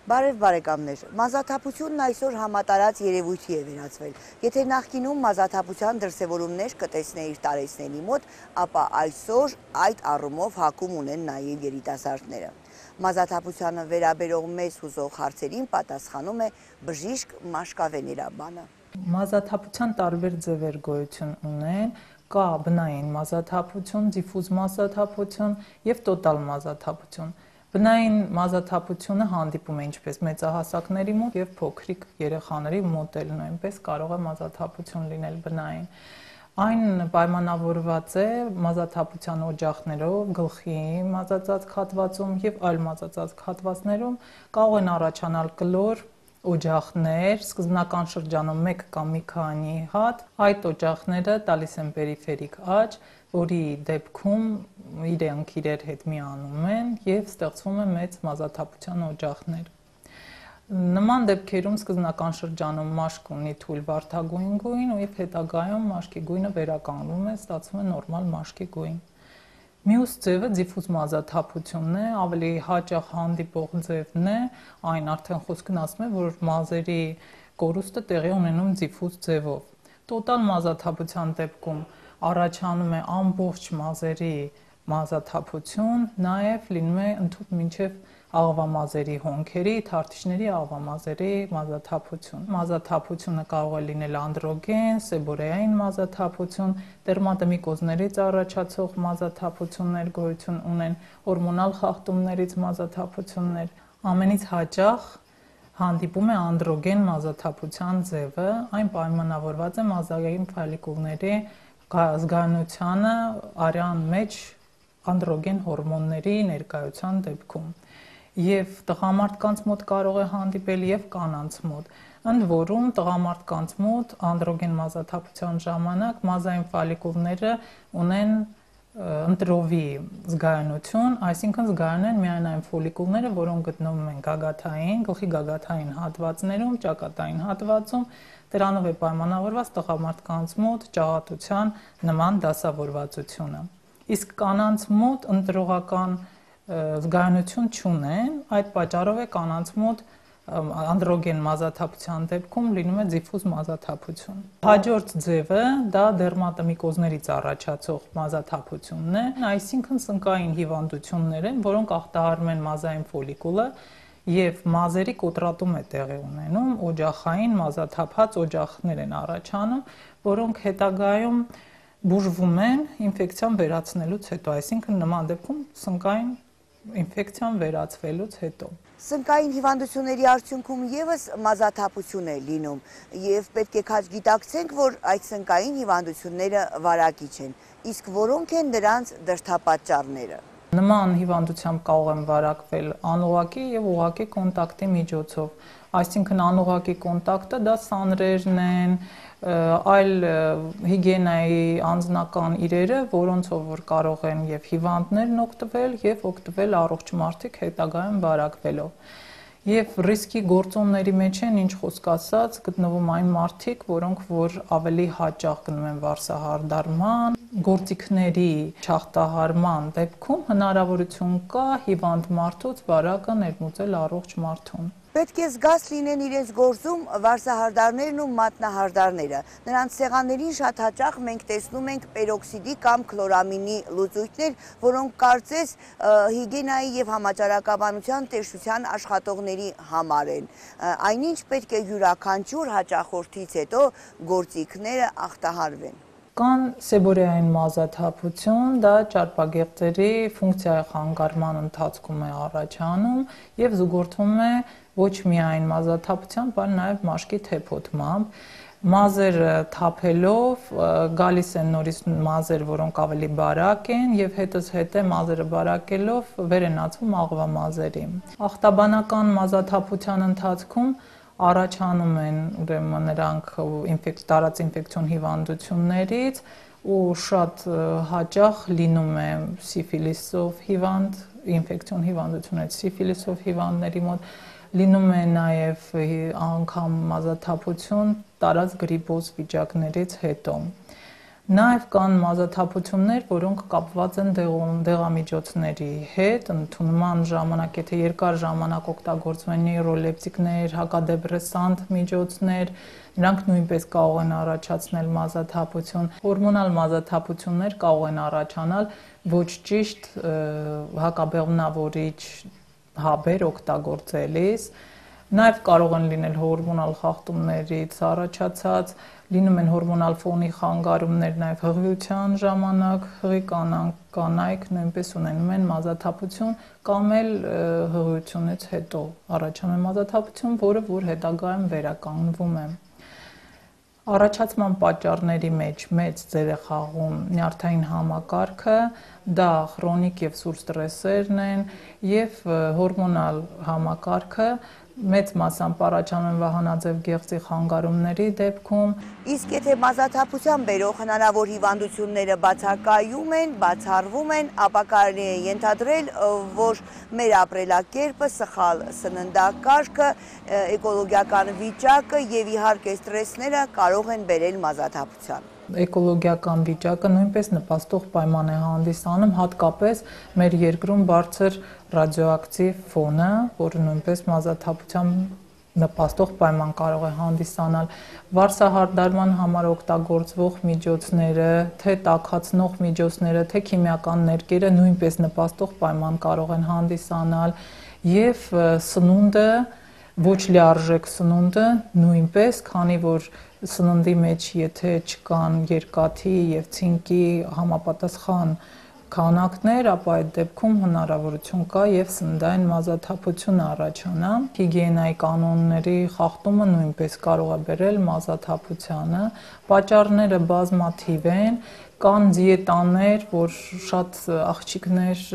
Բարև բարեկամներ, մազաթափությունն այսօր համատարած երևույթի է վերածվել։ Եթե նախկինում մազաթափության դրսևորումներ կտեսնեիր տարեցների մոտ, ապա այսօր այդ առումով հակում ունեն նաև երիտասարդները։ Մազաթափությանը վերաբերող մեզ հուզող հարցերին պատասխանում է բժիշկ Մաշկավե Նիրաբանը։ Մազաթափության տարբեր ձևեր գոյություն ունեն, կա բնային մազաթափություն, դիֆուզ մազաթափություն և տոտալ մազաթափություն։ Բնային մազաթափությունը հանդիպում է ինչպես մեծահասակների մոտ և փոքրիկ երեխաների մոտ էլ նույնպես կարող է մազաթափություն լինել բնային։ Այն պայմանավորված է մազաթափության օջախներով, գլխի մազածածկ հատվածում և այլ մազածածկ հատվածներում կարող են առաջանալ կլոր օջախներ, սկզբնական շրջանում մեկ կամ մի քանի հատ, այդ օջախները տալիս են պերիֆերիկ աճ, որի դեպքում իրենք իրար հետ միանում են և ստեղծվում է մեծ մազաթափության օջախներ։ Նման դեպքերում սկզբնական շրջանում մաշկ ունի թույլ վարդագույն գույն և հետագայում մաշկի գույնը վերականգնվում է, ստացվում է նորմալ մաշկի գույն։ Մյուս ձևը դիֆուզ մազաթափությունն է, ավելի հաճախ հանդիպող ձևն է, այն արդեն խոսքն ասում է, որ մազերի կորուստը տեղի ունենում դիֆուզ ձևով։ Տոտալ մազաթափության դեպքում առաջանում է ամբողջ մազերի մազաթափություն, նաև լինում է ընդհուպ մինչև աղվամազերի հոնքերի, թարթիչների աղվամազերի մազաթափություն։ Մազաթափությունը կարող է լինել անդրոգեն, սեբորեային մազաթափություն, դերմատոմիկոզներից առաջացող մազաթափություններ գոյություն ունեն, հորմոնալ խախտումներից մազաթափություններ։ Ամենից հաճախ հանդիպում է անդրոգեն մազաթափության ձևը, այն պայմանավորված է մազային ֆոլիկուլների զգայունությանը արյան մեջ անդրոգեն հորմոնների ներկայության դեպքում։ Եվ տղամարդկանց մոտ կարող է հանդիպել և կանանց մոտ։ Ընդ որում տղամարդկանց մոտ անդրոգեն մազաթափության ժամանակ մազային ֆոլիկուլները ունեն ընտրովի զգայունություն, այսինքն զգայուն են միայն այն ֆոլիկուլները, որոնք գտնվում են գագաթային, գլխի գագաթային հատվածներում, ճակատային հատվածում, դրանով է պայմանավորված տղամարդկանց մոտ ճաղատության նման դասավորվածությունը։ Իսկ կանանց մոտ ընտրողական զգայունություն չունեն, այդ պատճառով է կանանց մոտ անդրոգեն մազաթափության դեպքում լինում է դիֆուզ մազաթափություն։ Հաջորդ ձևը դա դերմատոմիկոզներից առաջացող մազաթափությունն է, այսինքն սնկային հիվանդություններ են, որոնք ախտահարում են մազային ֆոլիկուլը և մազերի կոտրատում է տեղի ունենում, օջախային մազաթափած օջախներ են առաջանում, որոնք հետագայում բուժվում են ինֆեկցիան վերացնելուց հետո, այսինքն նման դեպքում սնկային ինֆեկցիան վերացվելուց հետո։ Սնկային հիվանդությունների արդյունքում ևս մազաթափություն է լինում և պետք է քաջ գիտակցենք, որ այդ սնկային հիվանդությունները վարակիչ են, իսկ որոնք են դրանց դրդապատճառները։ Նման հիվանդությամբ կարող են վարակվել անուղղակի և ուղղակի կոնտակտի միջոցով, այսինքն անուղղակի կոնտակտը դա սանրերն են, այլ հիգիենայի անձնական իրերը, որոնցով որ կարող են և հիվանդներն օգտվել և օգտվել առողջ մարդիկ հետագայում վարակվելով։ Եվ ռիսկի գործոնների մեջ են, ինչ խոսք ասած, գտնվում այն մարդիկ, որոնք որ ավելի հաճախ գնում են վարսահարդարման, գործիքների չախտահարման դեպքում հնարավորություն կա հիվանդ մարդուց վարակը ներմուծել առողջ մարդուն։ Պետք է զգաց լինեն իրենց գործում վարսահարդարներն ու մատնահարդարները։ Նրանց սեղաններին շատ հաճախ մենք տեսնում ենք պերօքսիդի կամ քլորամինի լուծույթներ, որոնք կարծես հիգիենայի և համաճարակաբանության տեսչության աշխատողների համար են։ Այնինչ պետք է յուրաքանչյուր հաճախորդից հետո գործիքները ախտահարվեն։ Կան սեբորեային մազաթափություն, դա ճարպագեղձերի ֆունկցիայի խանգարման ընթացքում է առաջանում և զուգորդվում է ոչ միայն մազաթափությամբ, այլ նաև մաշկի թեփոտմամբ։ Մազերը թափելով գալիս են նորից մազեր, որոնք ավելի բարակ են և հետզհետե մազերը բարակելով վեր են ածվում աղվամազերի։ Ախտաբանական մազաթափության ընթացքում առաջանում են ուրեմն նրանք տարած ինֆեկցիոն հիվանդություններից ու շատ հաճախ լինում է սիֆիլիսով հիվանդ, ինֆեկցիոն հիվանդություններից սիֆիլիսով հիվանդների մոտ, լինում է նաև անգամ մազաթափություն տարած գրիպոզ վիճակներից հետո։ Նաև կան մազաթափություններ, որոնք կապված են դեղամիջոցների հետ, ընդունման ժամանակ, եթե երկար ժամանակ օգտագործվում են նեյրոլեպտիկներ, հակադեպրեսանտ միջոցներ, նրանք նույնպես կարող են առաջացնել մազաթափություն։ Հորմոնալ մազաթափություններ կարող են առաջանալ ոչ ճիշտ հակաբեղմնավորիչ հաբեր օգտագործելիս։ Նաև կարող են լինել հորմոնալ խախտումներից առաջացած, լինում են հորմոնալ ֆոնի խանգարումներ նաև հղիության ժամանակ, հղի կանայք նույնպես ունենում են մազաթափություն կամ էլ հղիությունից հետո առաջանում է մազաթափություն, որը որ հետագայում վերականգնվում է։ Առաջացման պատճառների մեջ մեծ դեր է խաղում նյարդային համակարգը, դա քրոնիկ եւ սուր ստրեսերն են եւ հորմոնալ համակարգը մեծ մասամբ առաջանում են վահանաձև գեղձի խանգարումների դեպքում։ Իսկ եթե մազաթափության բերող հնարավոր հիվանդությունները բացակայում են, բացառվում են, ապա կարելի է ենթադրել, որ մեր ապրելակերպը, սխալ սննդակարգը, էկոլոգիական վիճակը եւ իհարկե ստրեսները կարող են բերել մազաթափության։ Էկոլոգիական վիճակը նույնպես նպաստող պայման է հանդիսանում, հատկապես մեր երկրում բարձր ռադիոակտիվ ֆոնը, որը նույնպես մազաթափության նպաստող պայման կարող է հանդիսանալ, վարսահարդարման համար օգտագործվող միջոցները, թե տաքացնող միջոցները, թե քիմիական ներկերը նույնպես նպաստող պայման կարող են հանդիսանալ եւ սնունդը, ոչ լիարժեք սնունդը նույնպես, քանի որ սննդի մեջ եթե չկան երկաթի եւ ցինկի համապատասխան քանակներ, ապա այդ դեպքում հնարավորություն կա եւ սննդային մազաթափություն առաջանա։ Հիգիենայի կանոնների խախտումը նույնպես կարող է բերել մազաթափությանը։ Պատճառները բազմաթիվ են, կան դիետաներ, որ շատ աղջիկներ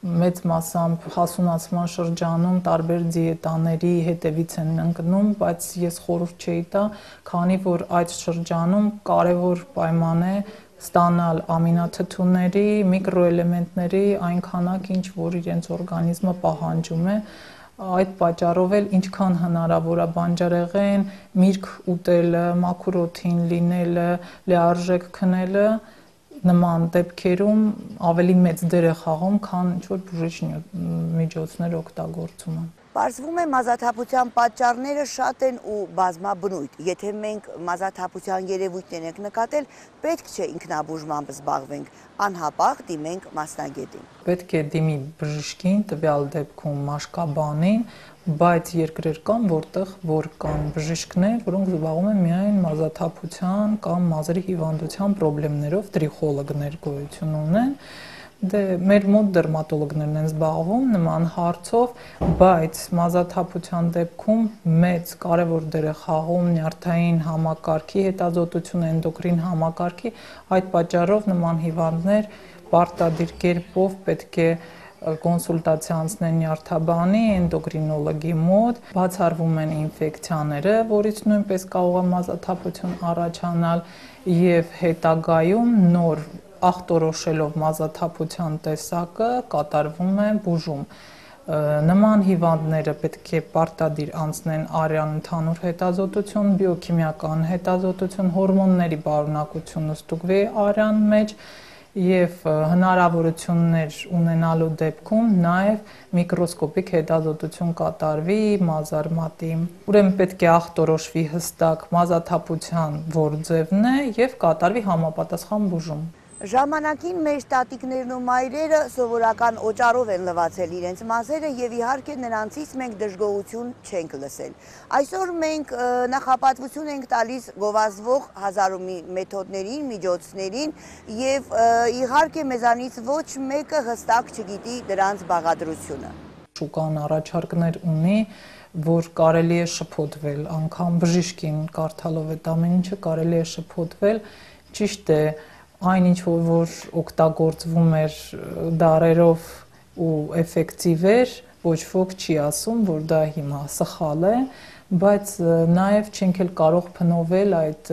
մեծ մասամբ հասունացման շրջանում տարբեր դիետաների հետևից են ընկնում, բայց ես խորհուրդ չէի տա, քանի որ այդ շրջանում կարևոր պայման է ստանալ ամինաթթուների, միկրոէլեմենտների այն քանակ, ինչ որ իրենց օրգանիզմը պահանջում է։ Այդ պատճառով էլ ինչքան հնարավոր է բանջարեղեն, միրգ ուտելը, մաքուր օդին լինելը, լիարժեք քնելը նման դեպքերում ավելի մեծ դեր է խաղում, քան ինչ-որ բուժիչ միջոցներ օգտագործումը։ Պարզվում է մազաթափության պատճառները շատ են ու բազմաբնույթ։ Եթե մենք մազաթափության երևույթներ ենք նկատել, պետք չէ ինքնաբուժմամբ զբաղվենք, անհապաղ դիմենք մասնագետին։ Պետք է դիմի բժշկին, տվյալ դեպքում մաշկաբանին, բայց երկրներ կան, որտեղ որ կան բժիշկներ, որոնք զբաղվում են միայն մազաթափության կամ մազերի հիվանդության խնդիրներով, տրիխոլոգներ գոյություն ունեն։ Դե մեր մոտ դերմատոլոգներն են զբաղվում նման հարցով, բայց մազաթափության դեպքում մեծ կարևոր դեր է խաղում նյարդային համակարգի հետազոտությունը, էնդոկրին համակարգի, այդ պատճառով նման հիվանդներ պարտադիր կերպով պետք է կոնսուլտացիա անցնեն նյարդաբանի, էնդոկրինոլոգի մոտ, բացառվում են ինֆեկցիաները, որից նույնպես կարող է մազաթափություն առաջանալ եւ հետագայում նոր ախտորոշելով մազաթափության տեսակը կատարվում է բուժում։ Նման հիվանդները պետք է պարտադիր անցնեն արյան ընդհանուր հետազոտություն, բիոքիմիական հետազոտություն, հորմոնների բարունակությունը ստուգվի արյան մեջ եւ հնարավորություններ ունենալու դեպքում նաեւ միկրոսկոպիկ հետազոտություն կատարվի մազարմատի։ Ուրեմն պետք է ախտորոշվի հստակ մազաթափության որ ձևն է եւ կատարվի համապատասխան բուժում։ Ժամանակին մեր տատիկներն ու մայրերը սովորական օճառով են լվացել իրենց մազերը եւ իհարկե նրանցից մենք դժգոհություն չենք լսել։ Այսօր մենք նախապատվություն ենք տալիս գովազդվող հազարումի մեթոդներին, միջոցներին եւ իհարկե մեզանից ոչ մեկը հստակ չգիտի դրանց բաղադրությունը։ Շուկան առաջարկներ ունի, որ կարելի է շփոթվել, անգամ բժիշկին կարդալով այդ ամեն ինչը կարելի է շփոթվել, ճիշտ է այն ինչ որ օգտագործվում էր դարերով ու էֆեկտիվ էր, ոչ ոք չի ասում, որ դա հիմա սխալ է, բայց նաև չենք էլ կարող փնովել այդ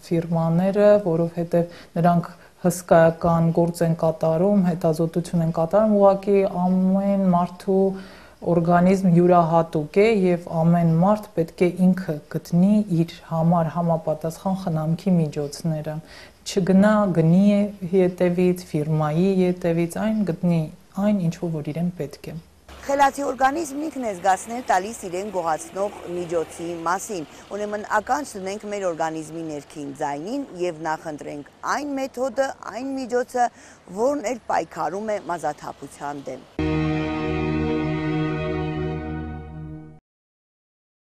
ֆիրմաները, որովհետև նրանք հսկայական գործ են կատարում, հետազոտություն են կատարում, ուղղակի ամեն մարդու օրգանիզմ յուրահատուկ է եւ ամեն մարդ պետք է ինքը գտնի իր համար համապատասխան խնամքի միջոցները, չգնա գնի հետևից, ֆիրմայի հետևից, այն գտնի այն ինչ որ իրեն պետք է։ Խելացի օրգանիզմն ինքն է զգացնել տալիս իրեն գողացնող միջոցի մասին։ Ուրեմն ականջ դնենք մեր օրգանիզմի ներքին ձայնին եւ նախընտրենք այն մեթոդը, այն միջոցը, որն էլ պայքարում է մազաթափության դեմ։